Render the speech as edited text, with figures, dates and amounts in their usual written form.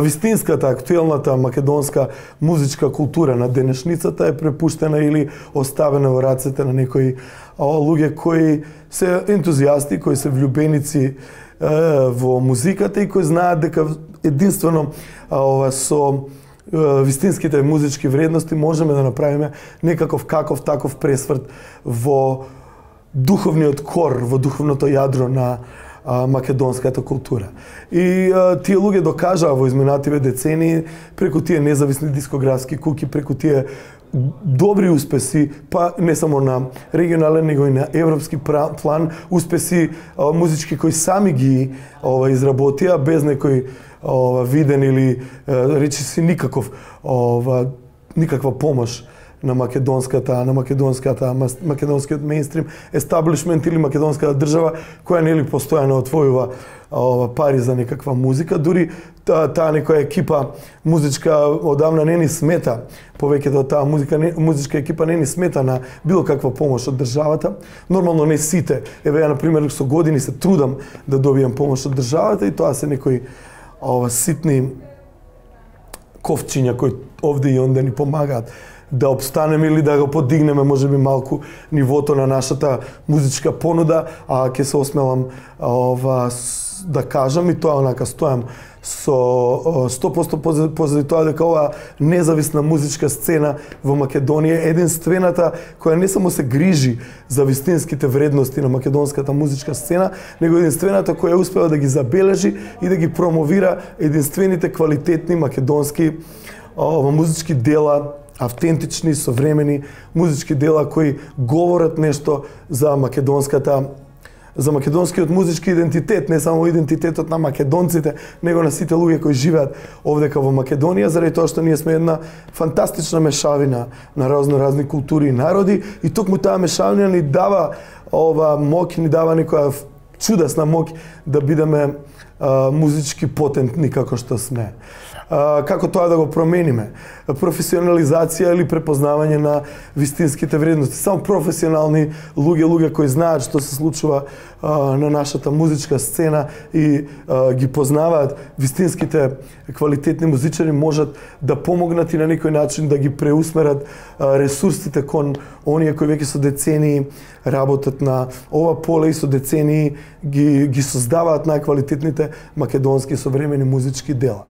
Вистинската, актуелната македонска музичка култура на денешницата е препуштена или оставена во рацете на некои луѓе кои се ентузијасти, кои се влюбеници во музиката и кои знаат дека единствено со вистинските музички вредности можеме да направиме некаков таков пресврт во духовниот кор, во духовното јадро на македонската култура. И тие луѓе докажаа во изминативе децении преку тие независни дискографски куки, преку тие добри успеси, па не само на регионален, него и на европски план, успеси музички кои сами ги изработија без некој виден или речиси никаква помош на македонскиот мејнстрим естаблишмент или македонската држава која нели постојано отвојува пари за некаква музика, дури таа некоја екипа музичка одамна не ни смета, повеќето таа музичка екипа не ни смета на било каква помош од државата. Нормално не сите, еве ја на пример со години се трудам да добијам помош од државата и тоа се некои ситни ковчиња кои овде и онде ни помагаат да обстанеме или да го подигнеме можеби малку нивото на нашата музичка понуда, а ќе се осмелам да кажам и тоа онака стојам со 100% позади тоа дека оваа независна музичка сцена во Македонија е единствената која не само се грижи за вистинските вредности на македонската музичка сцена, него единствената која успева да ги забележи и да ги промовира единствените квалитетни македонски музички дела, автентични, современи музички дела кои говорат нешто за македонскиот музички идентитет, не само идентитетот на македонците, него на сите луѓе кои живеат овдека во Македонија, заради тоа што ние сме една фантастична мешавина на разни култури и народи и токму таа мешавина ни дава моќ, ни дава некоја чудесна моќ да бидеме музички потентни како што сме. Како тоа да го промениме? Професионализација или препознавање на вистинските вредности. Само професионални луѓе кои знаат што се случува на нашата музичка сцена и ги познаваат вистинските квалитетни музичари можат да помогнат и на некој начин да ги преусмерат ресурсите кон оние кои веќе со децении работат на ова поле и со децении ги создаваат најквалитетните македонски современи музички дела.